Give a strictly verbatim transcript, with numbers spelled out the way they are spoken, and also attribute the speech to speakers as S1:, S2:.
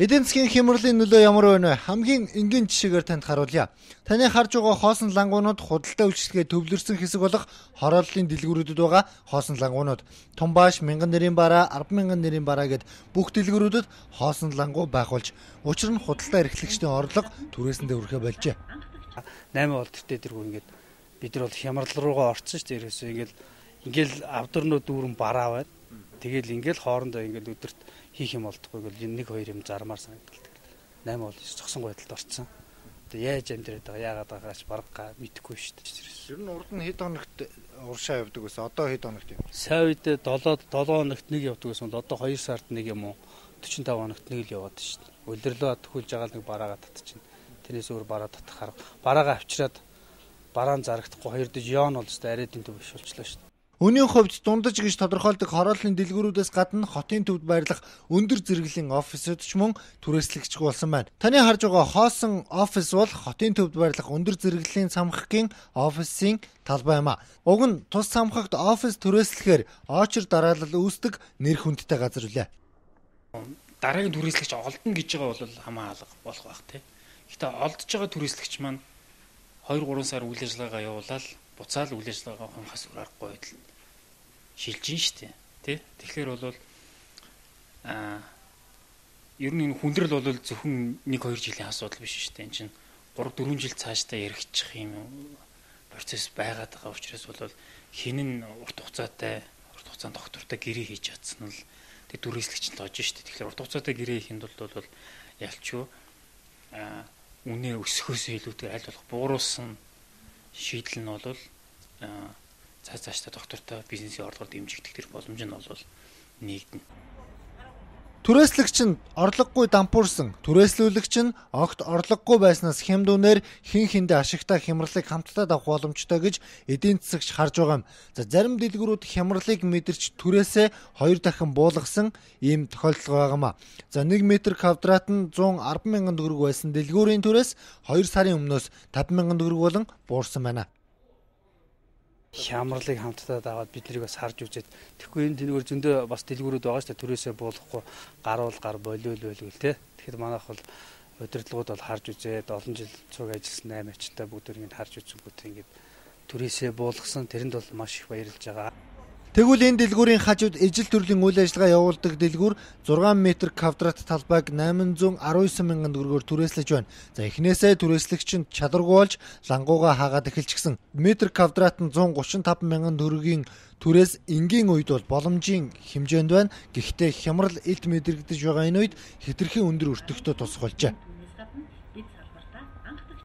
S1: Эдийн засгийн хямралын нөлөө ямар байна вэ? Хамгийн энгийн жишээгээр танд харуулъя. Таны харж байгаа хоосон лангуунууд худалдаа үйлчилгээ төвлөрсөн хэсэг болох хорооллын дэлгүүрүүдэд байгаа хоосон лангуунууд. Тумбааш, мянган нэрийн бараа, арван мянган нэрийн бараа гэд бүх дэлгүүрүүдэд хоосон лангуу байхулж, учир нь худалдаа эрхлэгчдийн орлого түрээсэндээ өрхөө болжээ.
S2: найман бол тэртээ тэргүй ингээд бид нар бол хямрал руугаа орсон шүү дээ. Ерөөсөө ингээд ингээл авдарнууд дүүрэн бараа байна. Тэгэл ингээл хоорондоо ингээл өдөрт хийх юм болдохгүй гэл нэг хоёр юм зармаар санагддаг. найман бол зогсон байдалд орцсон. Тэгээ яаж амьдраад байгаа яагаад байгаач барга мэдэхгүй шүү дээ.
S1: Ер нь урд нь хэд хоногт уршаа явдаг гэсэн одоо хэд хоногт юм?
S2: Сайн үед долоо хоногт нэг явдаг гэсэн бол одоо хоёр сард нэг юм уу дөрвөн таван хоногт нэг л яваад шүү дээ. Улирлоо төхүүлж байгаа нэг бараагаа татчихна. Тэрнээс өөр бараа татах арга. Бараагаа авчираад бараан зарагдахгүй хоёр дэж яон бол өстой арайд энэ төв биш болчлоо шүү дээ.
S1: Өнийн хувьд дундаж гэж тодорхойлдог хорооллын дэлгүүрүүдээс гадна хотын төвд байрлах өндөр зэрэглэлийн офисууд ч мөн түрээслэгч болсон байна. Таны харж байгаа хоосон офис бол хотын төвд байрлах өндөр зэрэглэлийн цамхгийн офисын талбай юм а. Уг нь тус цамхагт офис түрээслэхээр очир дараалал үүсдэг нэр хүндтэй газар үлээ.
S3: Дараагийн түрээслэгч олдно гэж байгаа бол хамаа алга болох байх тий. Гэхдээ олдж байгаа түрээслэгч маань хоёр гурван сар үйл ажиллагаагаа явуулаад буцаал үйл ажиллагаа хонхоос аргагүй байдал шилжин штэ тий. Тэгэхээр бол аа ер нь энэ хүндрэл бол зөвхөн нэг хоёр жилийн асуудал биш штэ. Энд чинь гурав дөрвөн жил цаашдаа яригдчих юм процесс байгаад байгаа учраас бол хинэн урт хугацаатай урт хугацаанд доктортой гэрээ хийж чадсан л тэг түрээслэгч нь лож штэ. Тэгэхээр урт хугацаатай гэрээ хийхэд бол ялчгүй аа үнэ өсөхөөс илүүтэй аль болох бууруулсан шийдэл нь бол цаа цаашдаа доктортой бизнесийн орлогоор дэмжигдэх тэр боломж нь бол нэгдэнэ.
S1: Түрээслэгч нь орлогогүй дампуурсан, түрээслүүлэгч нь огт орлогогүй байснаас хямдүнээр хин хиндэ ашигтай хямралыг хамтдаа авах боломжтой гэж эдийн засагч харж байгаа юм. За зарим дэлгүүрүүд хямралыг мэдэрч түрээсээ хоёр дахин буулгасан ийм тохиолдол байгаамаа. За нэг метр квадрат нь зуун арван мянган төгрөг байсан дэлгүүрийн түрээс хоёр сарын өмнөөс таван мянган төгрөг болон буурсан байна.
S2: Хямралыг хамтдаа даваад бид нарыг бас харж үзээд тэгэхгүй энэ тэнгээр зөндөө бас дэлгүүрүүд байгаа шүү дээ. Түрээсээ буулгахгүй гаруул гар болиул байлгүй те. Тэгэхээр манайх бол удирдлагууд бол харж үзээд олон жил цуг ажилласан найман ачтай бүгд ингэ харж үзэнгүүт ингэ түрээсээ буулгасан тэрэнд бол маш их баярлж байгаа.
S1: Тэгвэл энэ дэлгүүрийн хажууд ижил төрлийн үйл ажиллагаа явуулдаг дэлгүүр зургаан метр квадрат талбайг восемь один мянган төгрөгөөр түрээслэж байна. За эхнээсээ түрээслэгч нь чадваргүй болж лангууга хаагаад эхэлчихсэн. Метр квадрат нь one thirty-five мянган төгрөгийн түрээс энгийн үед бол боломжийн хэмжээнд байна. Гэхдээ хямрал илт мэдэрэгдэж байгаа энэ үед хэтэрхий өндөр өртөгтэй тусах болжээ.